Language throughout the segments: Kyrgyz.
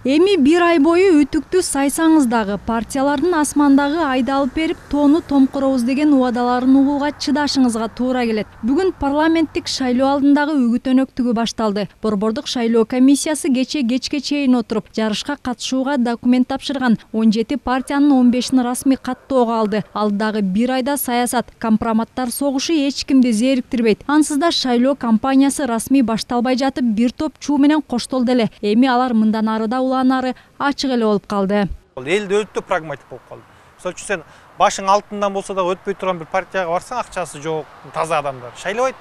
Эми бир ай бою үтүктү сайсаңыз дагы партиялардын асмандагы айды алып берип тоону томкуробуз деген убадаларын угууга чыдашыңызга туура келет. Бүгүн парламенттик шайлоо алдындагы үгүт өнөктүгү башталды. Борбордук шайлоо комиссиясы кечке чейин отуруп, жарышка катышууга документ тапшырган 17 партиянын 15-ин расмий каттоого алды. Алдагы бир айда саясат, компроматтар согушу эч кимди зээриктирбейт. Ансыз да шайлоо кампаниясы расмий башталбай жатып, бир топ чуу менен коштолду эле. Эми алар мындан арыда улаанары ачык эле болуп калды. Элде өтө прагматик болуп калды. Мисалы үчүн сен башың алтындан болсо да өтпөй турган бир партияга барсаң, акчасы жок, таза адамдар шайлабайт.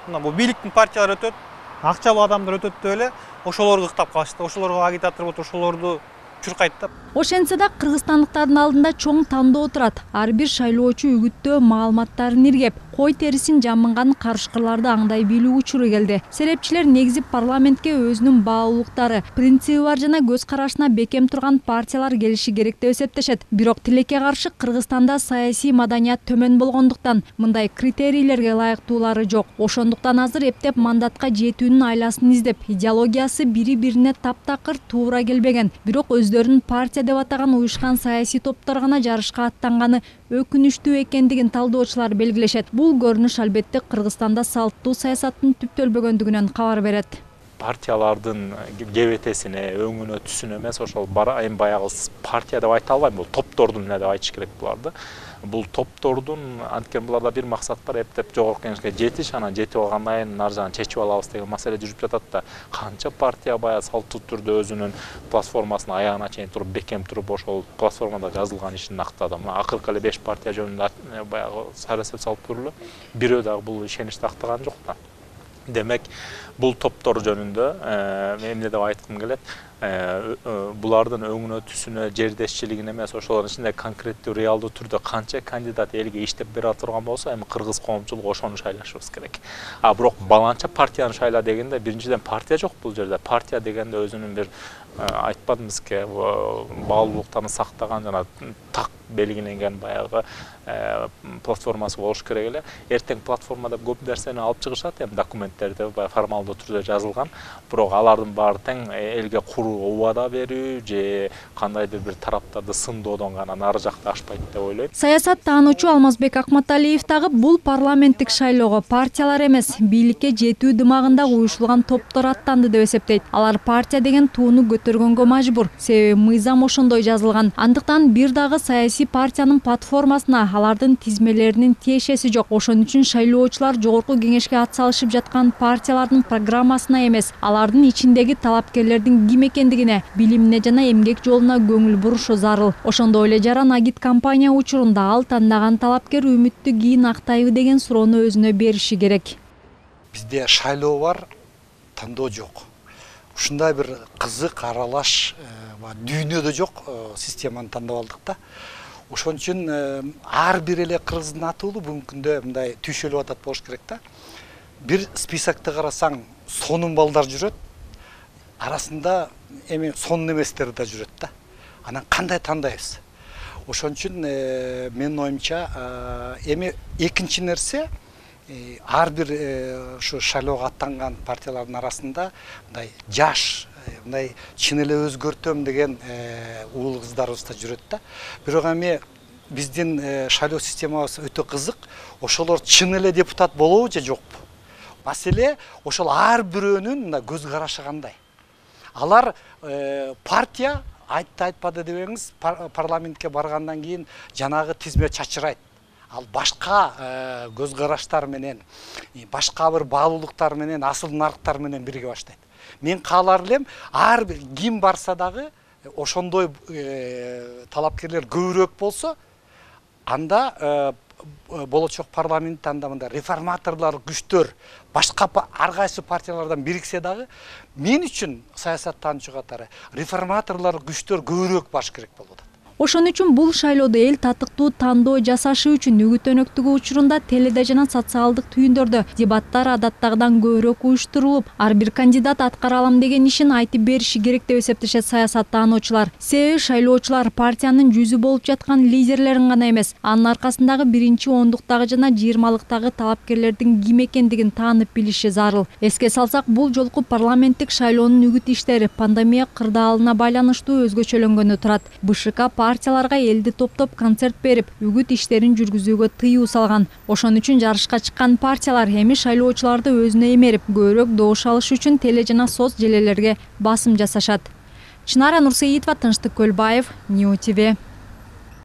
Мына бул бийликтин партиялары өтөт, акчалуу адамдар өтөт деп эле ошолорду ыктап калышты. Ошолорго агитатор болуп ошолорду чуркайт да. Ошентсе да кыргызстандыктардын алдында чоң тандоо турат. Ар бир шайлоочу үгүттөө маалыматтарын иргеп, кой терисин жамынган карышкырларды аңдай билүү учуру келди. Серепчилер негизи парламентке өзүнүн баалуулуктары, принциби бар жана көз карашына бекем турган партиялар келиши керек деп эсептешет. Бирок тилекке каршы Кыргызстанда саясий маданият төмөн болгондуктан мындай критерийлерге ылайыктуулары жок. Ошондуктан азыр эптеп мандатка жетүүнүн айласын издеп, идеологиясы бири-бирине таптакыр туура келбеген, бирок өздөрүн партия деп атаган уюшкан саясий топтор гана жарышка аттанганы өкүнүчтүү экендигин талдоочулар белгилешет. Бул көрүнүш албетте Кыргызстанда салттуу саясаттын түптөлбөгөндүгүнөн кабар берет. Партиялардын кебетесине, өңүнө, түсүнө эмес, ошол айым баягы партия деп айта албайм, бул топтордун эле деп айтыш керек буларды. Бул топтордун анткени буларда бир максат бар, эптеп жогорку кеңешке жетиш, анан жетип алгандан кийин ар жагын чечип алабыз деген маселе жүрүп жатат да. Канча партия баягы салттуу түрдө өзүнүн платформасын аягына чейин туруп, бекем туруп, ошол платформада жазылган ишин актады. Мына акыркы эле 5 партия жөнүндө баягы сарасеп салып көрүлө. Бирөө дагы бул ишеничти актаган жок да. Демек, бул топтор жөнүндө эмне деп айткым келет? Булардын өңүнө, түсүнө, жердешчилигине эмес, ошолордун ичинде конкреттүү, реалдуу түрдө канча кандидат элге иштеп бере турган болсо, эми кыргыз коомчулугу ошону шайлашыбыз керек. Бирок баланча партияны шайла дегенде, биринчиден партия жок бул жерде. Партия дегенде өзүнүн бир айтпадымбызбы, баалуулуктарын сактаган жана так белгиленген баягы платформасы болуш керек эле. Эртең платформада көп нерсени алып чыгышат, эми документтерде формалдуу түрдө жазылган, бирок алардын баары тең элге куруу убада берүү же кандайдыр бир тараптарды сындоодон гана нары жакта ашпайт деп ойлойм. Саясат таануучу Алмазбек Акматалиев дагы бул парламенттик шайлоого партиялар эмес, бийликке жетүү дымагында уюшулган топтор аттанды деп эсептейт. Алар партия деген тууну көтөргөнгө мажбур, себеби мыйзам ошондой жазылган. Андыктан бир дагы саясий партиянын платформасына алардын тизмелеринин тиешеси жок. Ошон үчүн шайлоочулар жогорку кеңешке ат салышып жаткан партиялардын программасына эмес, алардын ичиндеги талапкерлердин ким экендигине, билимине жана эмгек жолуна көңүл бурушу зарыл. Ошондой эле жаран агит кампания учурунда ал тандаган талапкер үмүттү кийин актайбы деген суроону өзүнө бериши керек. Бизде шайлоо бар, тандоо жок. Ушундай бир кызык, аралаш дүйнөдө жок системаны тандап алдык да. Ошон үчүн ар бир эле кыргыздын атуулу бүгүнкү күндө мындай түйшөлүп атат болуш керек да. Бир списокто карасаң, сонун балдар жүрөт. Арасында эми сонун эместер да жүрөт да. Анан кандай тандайбыз? Ошон үчүн менин оюмча эми экинчи нерсе, ар бир ушу шайлоого аттанган партиялардын арасында мындай жаш, мындай чын эле өзгөртөм деген уул кыздарыбыз да жүрөт да. Бирок эми биздин шайлоо системабыз өтө кызык. Ошолор чын эле депутат болобу же жокпу? Маселе ошол ар бирөөнүн мына көз карашы кандай. Алар партия айтты айтпады дебеңиз, парламентке баргандан кийин жанагы тизме чачырайт. Ал башка көз караштар менен, башка бир баалуулуктар менен, асыл нарыктар менен бирге баштайт. Мен каалар элем, ар бир ким барса дагы ошондой талапкерлер көбүрөөк болсо, анда болочок парламент анда мындай реформаторлор күчтөр башка ар кайсы партиялардан бириксе дагы, мен үчүн саясаттануучу катары реформаторлор күчтөр көбүрөөк баш керек болуп атат. Ошон үчүн бул шайлоодо эл татыктуу тандоо жасашы үчүн үгүт өнөктүгү учурунда теледе жана социалдык түйүндөрдө дебаттар адаттагыдан көбүрөөк уюштурулуп, ар бир кандидат аткара алам деген ишин айтып бериши керек деп эсептешет саясаттануучулар. Себеби шайлоочулар партиянын жүзү болуп жаткан лидерлерин гана эмес, анын аркасындагы биринчи ондуктагы жана 20-лыктагы талапкерлердин ким экендигин таанып билиши зарыл. Эске салсак, бул жолку парламенттик шайлоонун үгүт иштери пандемия кырдаалына байланыштуу өзгөчөлөнгөнү турат. БШК партияларга элди топтоп концерт берип, үгүт иштерин жүргүзүүгө тыюу салган. Ошон үчүн жарышка чыккан партиялар эми шайлоочуларды өзүнө эмерип, көбүрөөк добуш алыш үчүн теле жана соц желелерге басым жасашат. Чынара Нурсеитова, Тынчтык Көлбаев, Нью ТВ.